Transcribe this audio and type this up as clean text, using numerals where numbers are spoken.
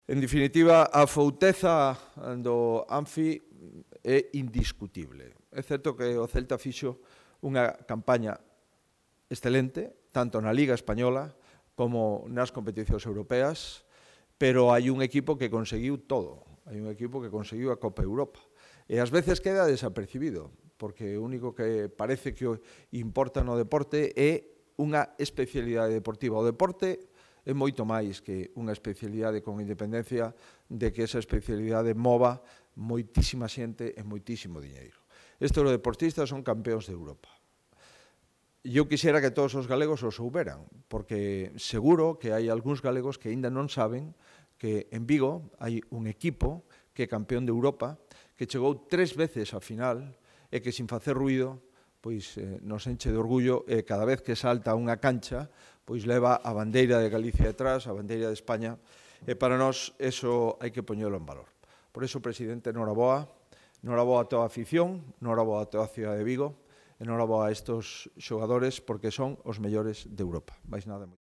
En definitiva, a fouteza do Anfi é indiscutible. É certo que o Celta fixo unha campaña excelente, tanto na Liga Española como nas competicións europeas, pero hai un equipo que conseguiu todo. Hai un equipo que conseguiu a Copa Europa. E ás veces queda desapercibido, porque o único que parece que importa no deporte é unha especialidade deportiva. O deporte é moito máis que unha especialidade con independencia de que esa especialidade mova moitísima xente e moitísimo diñeiro. Estes deportistas son campeóns de Europa. Eu quixera que todos os galegos o souberan, porque seguro que hai algúns galegos que aínda non saben que en Vigo hai un equipo que é campeón de Europa, que chegou 3 veces á final e que sin facer ruído pois nos enche de orgullo e cada vez que salta a unha cancha pois leva a bandeira de Galicia detrás, a bandeira de España, e para nós eso hai que poñelo en valor. Por eso, presidente, noraboa a toda a afición, noraboa a toda a cidade de Vigo, e noraboa a estos xogadores porque son os mellores de Europa. Mais nada.